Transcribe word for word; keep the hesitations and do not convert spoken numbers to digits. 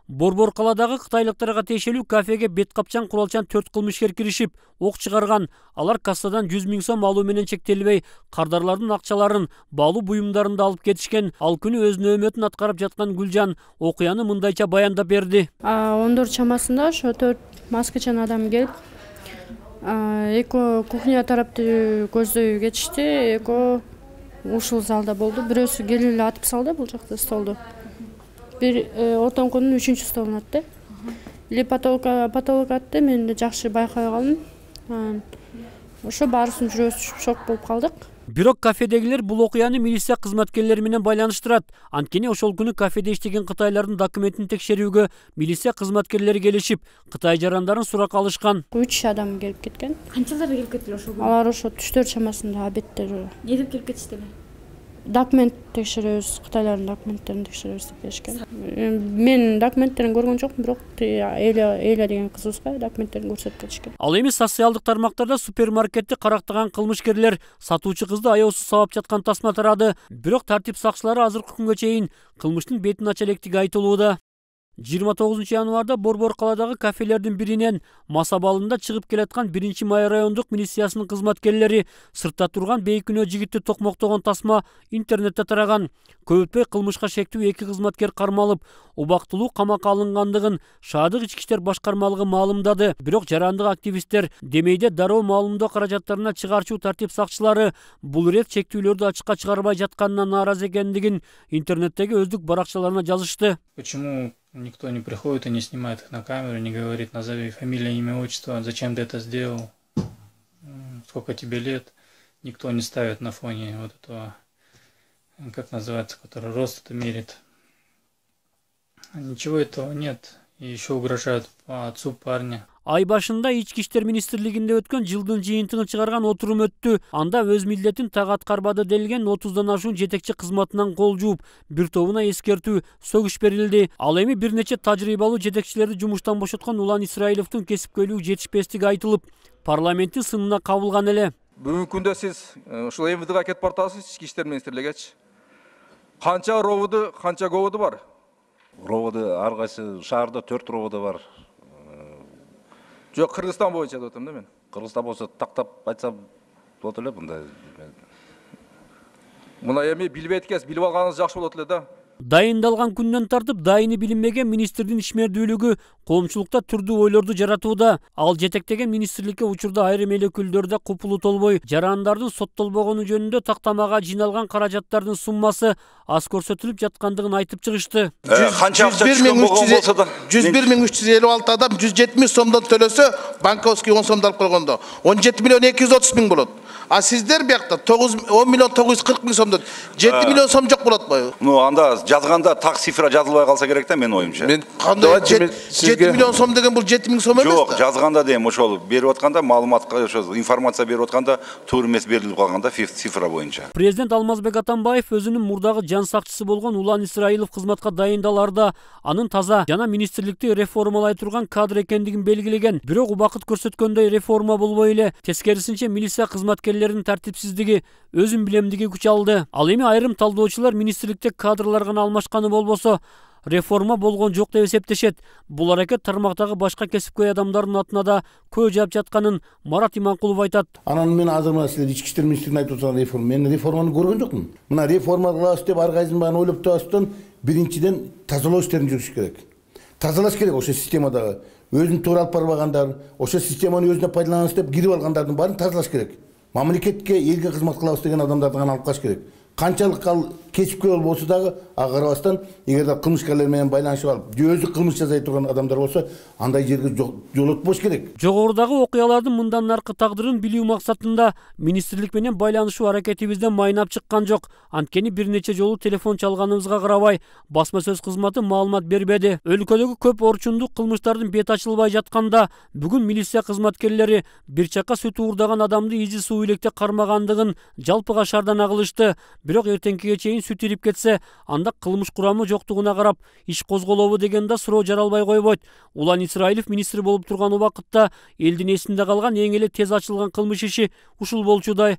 Борбор каладагы кытайлыктарга тиешелүү кафеге бет капчан куралчан төрт кылмышкер киришип, ок чыгарган. Алар кассадан жүз миң сом алуу менен чектелбей, кардарлардын акчаларын, баалуу буюмдарын да алып кетишкен. Ал күнү өз нөөмөтүн аткарып жаткан Гүлжан окуяны мындайча баяндап берди. он төрт чамасында ошо төрт маскачан адам келип, эки кухня тарапты көздөй кетишти, эки ушул залда болду. Бирөөсү келип эле атып салды бул жакта столду. Бир отоңкунун үчүнчү столун атты. Или потолка потолок атты, мен да жакшы байкабай калдым. Ошо баарыбыздын жүрөгүбүз түшүп шок болуп калдык. Бирок кафедегилер бул окуяны милиция кызматкерлери менен байланыштырат. Анткени ошол күнү кафеде иштеген кытайлардын документин текшерүүгө милиция кызматкерлери келишип, кытай жарандарын сурак алышкан. үч адам келип кеткен. Канчалар келип кетти ошол күнү? Алар ошо түш төрт чамасында обедте. Эмне деп келип кетиштиби? Документ текшеребиз, кытайлардын документтерин текшеребиз деп беришкен. Мен документтерин көргөн жокмун, бирок Эля Эля деген кызыбызга документтерин көрсөтүп кетишкен. Ал эми социалдык тармактарда супермаркетти карактаган кылмышкерлер сатуучу кызды аябсыз сабап жаткан тасма тарады. Бирок тартип сакчылары азыркы күнгө чейин кылмыштын бетин ача электиги айтылууда. жыйырма тогузунчу январда Борбор каладагы кафелердин биринен мас абалында чыгып келаткан биринчи май райондук милициясынын кызматкерлери сыртта турган бейкүнөө жигитти токмоктогон тасма интернетте тараган. Көп өтпөй кылмышка шектүү эки кызматкер кармалып, убактылуу камакка алынгандыгын Шаадык ички иштер башкармалыгы маалымдады. Бирок жарандык активисттер демейде дароо маалымдоо каражаттарына чыгарчу тартип сакчылары бул ирет чектүүлөрдү ачыкка чыгарбай жатканына нааразы экендигин интернеттеги өздүк баракчаларына жазышты. Почему никто не приходит и не снимает их на камеру, не говорит: назови фамилия, имя, отчество, зачем ты это сделал, сколько тебе лет. Никто не ставит на фоне вот этого, как называется, который рост это мерит. Ничего этого нет. И еще угрожают отцу парня. Ай башында ички иштер министрлигинде өткөн жылдын жыйынтыгын чыгарган отурум өттү. Анда өз милдетин так аткарбады делген отуздан ашуун жетекчи кызматынан кол жууп, бир тобуна эскертүү, сөгүш берилди. Ал эми бир нече тажрыйбалуу жетекчилерди жумуштан бошоткон Улан Исраиловдун кесипкөйлүгү жетишпестиги айтылып, парламенттин сынына кабылган эле. Бүгүнкү күндө сиз ушул эм вэ дэга кетип баратасыз, ички иштер министрлигичи. Канча роводу, канча говоду бар? Роводу ар кайсы шаарда төрт роводу бар. Жок, Кыргызстан боюнча деп атам да мен. Кыргызстан болсо тактап айтсам болот эле мындай. Мына эми билбейт экенсиз, билип алганыңыз жакшы болот эле да. Дайындалган күндөн тартып дайыны билинбеген министрдин ишмердүүлүгү коомчулукта түрдүү ойлорду жаратууда. Ал жетектеген министрликке учурда айрым эл өкүлдөрү да купулу толбой, жарандардын соттолбогону жөнүндө тактамага жыйналган каражаттардын суммасы аз көрсөтүлүп жаткандыгын айтып чыгышты. Канча акча түшкөн болгон болсо да жүз бир миң үч жүз элүү алты адам жүз жети миң сомдон төлөсө, банковский он сомду алып койгондо он жети миллион эки жүз отуз миң болот. А сиздер биякта он миллион тогуз жүз кырк миң сомдон жети миллион сом жок болот го. Ну анда жазганда так цифра жазылбай калса керек да, менин оюмча. Мен кандай жети миллион сом деген бул жети миң сом эмес да. Жок, жазганда дейм ошол берип атканда, маалыматка ошо информация берип атканда туура эмес берилип калганда цифра боюнча. Президент Алмазбек Атамбаев өзүнүн мурдагы жан сакчысы болгон Улан Исраилов кызматка дайындаларда анын таза жана министрликти реформалай турган кадр экендигин белгилеген. Бирок убакыт көрсөткөндөй реформа болбой эле, тескерисинче милиция кызматкерлеринин тартипсиздиги, өзүн билемдиги күч алды. Ал эми айрым талдоочулар министрликте кадрлар гана алмашканы болбосо реформа болгон жок деп эсептешет. Бул аракет тармактагы башка кесипкөй адамдардын атына да көө жаап жатканын Марат Иманкулов айтат. Анан мен азыр мына силер ички иштер министрлигин айтып жаткан реформа, мен реформаны көргөн жокмун. Мына реформа кылабыз деп ар кайсысын баарын ойлоп табастан биринчиден тазалоо иштерин жүргүзүш керек. Тазалаш керек ошо системадагы. Өзүн туура алып барбагандар, ошо системаны өзүнө пайдаланабыз деп кирип алгандардын баарын тазалаш керек. Мамлекетке, элге кызмат кылабыз деген адамдарды гана алып калыш керек. Канчалык ал кесипкөй болсо дагы ага карабастан, эгерде кылмышкерлер менен байланышып алып, өзү кылмыш жасай турган адамдар болсо, андай жерге жолотпош керек. Жогорудагы окуялардын мындан аркы тагдырын билүү максатында министрлик менен байланышуу аракетибизден майнап чыккан жок. Анткени бир нече жолу телефон чалганыбызга карабай, басма сөз кызматы маалымат бербеди. Өлкөдөгү көп орчундук кылмыштардын бет ачылбай жатканда, бүгүн милиция кызматкерлери бир чакка сүт уурдаган адамды изи суу илекте кармагандыгын жалпыга шаардан кылышты. Бирок эртеңкиге чейин сүт ирип кетсе, анда кылмыш курамы жоктугуна карап иш козголобу деген да суроо жаралбай койбойт. Улан Исраилов министр болуп турган убакытта элдин эсинде калган эң эле тез ачылган кылмыш иши ушул болчудай.